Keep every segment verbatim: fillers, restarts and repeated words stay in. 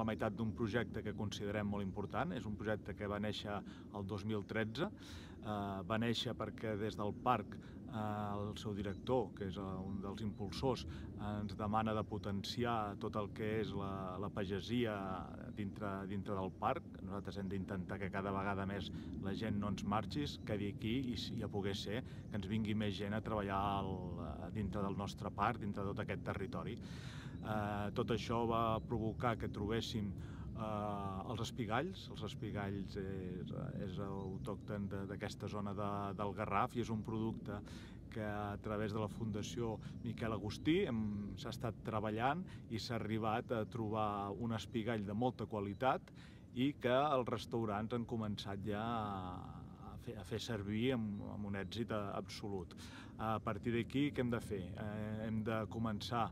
la meitat d'un projecte que considerem molt important. És un projecte que va néixer el dos mil tretze. Uh, va néixer perquè des del parc uh, el seu director, que és uh, un dels impulsors, uh, ens demana de potenciar tot el que és la, la pagesia dintre, dintre del parc. Nosaltres hem d'intentar que cada vegada més la gent no ens marxi, quedi aquí i, i a poder ser que ens vingui més gent a treballar al, dintre del nostre parc, dintre de tot aquest territori. Uh, tot això va provocar que trobéssim Uh, els espigalls. Els espigalls és, és autòcton d'aquesta zona de, del Garraf i és un producte que a través de la Fundació Miquel Agustí s'ha estat treballant i s'ha arribat a trobar un espigall de molta qualitat i que els restaurants han començat ja a fer, a fer servir amb, amb un èxit absolut. A partir d'aquí, què hem de fer? Eh, hem de començar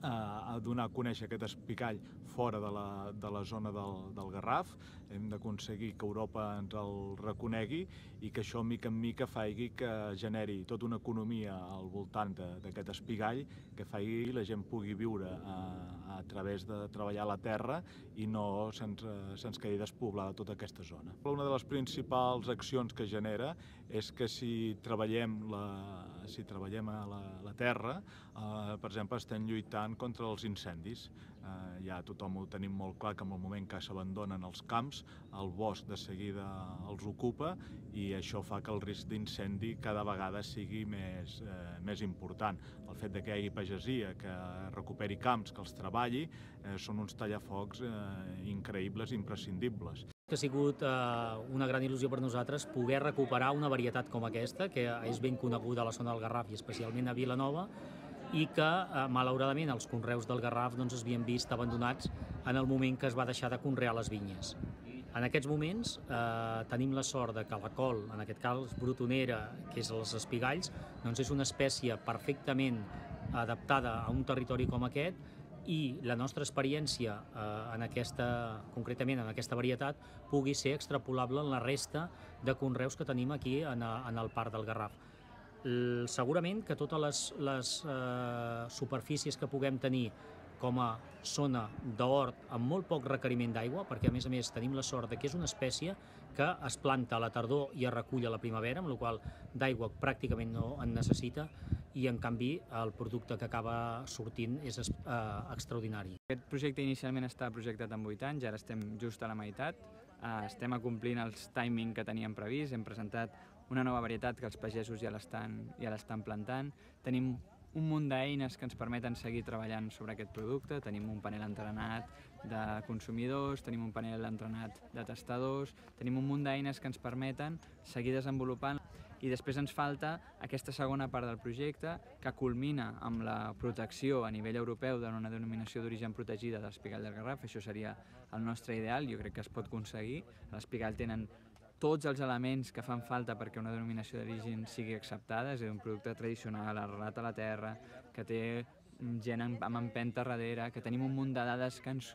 a donar a conèixer aquest espigall fora de la, de la zona del, del Garraf. Hem d'aconseguir que Europa ens el reconegui i que això, mica en mica, faci que generi tota una economia al voltant d'aquest espigall, que faci la gent pugui viure a, a través de treballar la terra i no se'ns se'ns quedi despoblada tota aquesta zona. Una de les principals accions que genera és que si treballem, la, si treballem a la, la terra, eh, per exemple, estem lluitant contra els incendis. Eh, ja tothom ho tenim molt clar que en el moment que s'abandonen els camps, el bosc de seguida els ocupa i això fa que el risc d'incendi cada vegada sigui més, eh, més important. El fet de que hi hagi pagesia, que recuperi camps, que els treballi, eh, són uns tallafocs eh, increïbles i imprescindibles. Ha sigut eh, una gran il·lusió per nosaltres poder recuperar una varietat com aquesta, que és ben coneguda a la zona del Garraf i especialment a Vilanova, i que, eh, malauradament, els conreus del Garraf doncs, es havien vist abandonats en el moment que es va deixar de conrear les vinyes. En aquests moments eh, tenim la sort de que la col, en aquest cas brotonera, que és els espigalls, doncs és una espècie perfectament adaptada a un territori com aquest i la nostra experiència eh, en aquesta, concretament en aquesta varietat pugui ser extrapolable en la resta de conreus que tenim aquí en, en el Parc del Garraf. Segurament que totes les, les eh, superfícies que puguem tenir com a zona d'hort amb molt poc requeriment d'aigua, perquè a més a més tenim la sort que és una espècie que es planta a la tardor i es recull a la primavera, amb la qual d'aigua pràcticament no en necessita i en canvi el producte que acaba sortint és eh, extraordinari. Aquest projecte inicialment estava projectat en vuit anys, ara estem just a la meitat, eh, estem acomplint els timing que teníem previst, hem presentat una nova varietat que els pagesos ja l'estan ja l'estan plantant, tenim un munt d'eines que ens permeten seguir treballant sobre aquest producte, tenim un panel entrenat de consumidors, tenim un panel entrenat de testadors, tenim un munt d'eines que ens permeten seguir desenvolupant i després ens falta aquesta segona part del projecte que culmina amb la protecció a nivell europeu d'una denominació d'origen protegida de l'espigall del Garraf. Això seria el nostre ideal, jo crec que es pot aconseguir. L'espigall tenen tots els elements que fan falta perquè una denominació d'origen sigui acceptada, és un producte tradicional, arrelat a la terra, que té gent amb empenta darrere, que tenim un munt de dades que ens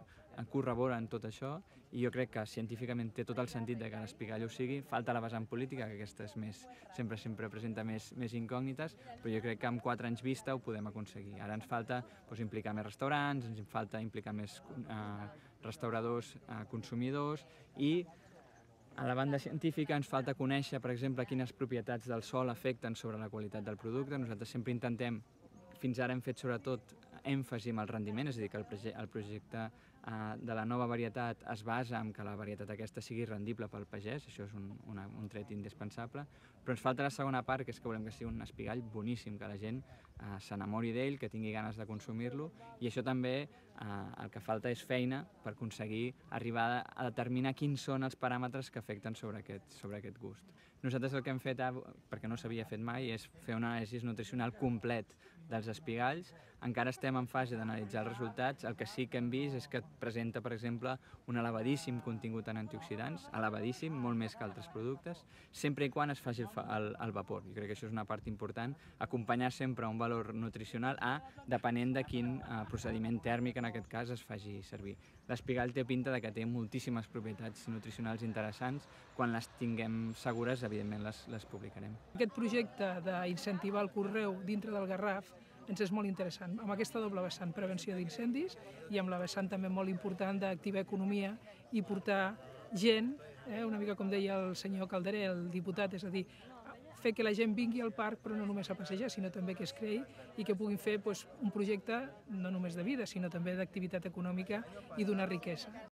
corroboren tot això i jo crec que científicament té tot el sentit de que l'espigall ho sigui. Falta la vessant política, que aquesta és més, sempre sempre presenta més, més incògnites, però jo crec que amb quatre anys vista ho podem aconseguir. Ara ens falta doncs, implicar més restaurants, ens falta implicar més eh, restauradors, eh, consumidors i a la banda científica ens falta conèixer, per exemple, quines propietats del sòl afecten sobre la qualitat del producte. Nosaltres sempre intentem, fins ara hem fet sobretot èmfasi en el rendiment, és a dir, que el, proje el projecte eh, de la nova varietat es basa en que la varietat aquesta sigui rendible pel pagès, això és un, una, un tret indispensable, però ens falta la segona part, que és que volem que sigui un espigall boníssim, que la gent eh, s'enamori d'ell, que tingui ganes de consumir-lo, i això també eh, el que falta és feina per aconseguir arribar a determinar quins són els paràmetres que afecten sobre aquest, sobre aquest gust. Nosaltres el que hem fet, perquè no s'havia fet mai, és fer una anàlisi nutricional complet dels espigalls. Encara estem en fase d'analitzar els resultats. El que sí que hem vist és que presenta, per exemple, un elevadíssim contingut en antioxidants, elevadíssim, molt més que altres productes, sempre i quan es faci el, el, el vapor. Jo crec que això és una part important, acompanyar sempre un valor nutricional a, depenent de quin eh, procediment tèrmic en aquest cas es faci servir. L'espigall té pinta de que té moltíssimes propietats nutricionals interessants. Quan les tinguem segures, evidentment les, les publicarem. Aquest projecte d'incentivar el conreu dintre del Garraf ens és molt interessant. Amb aquesta doble vessant, prevenció d'incendis, i amb la vessant també molt important d'activar economia i portar gent, eh, una mica com deia el senyor Calderé, el diputat, és a dir, fer que la gent vingui al parc, però no només a passejar, sinó també que es creï i que puguin fer doncs, un projecte no només de vida, sinó també d'activitat econòmica i d'una riquesa.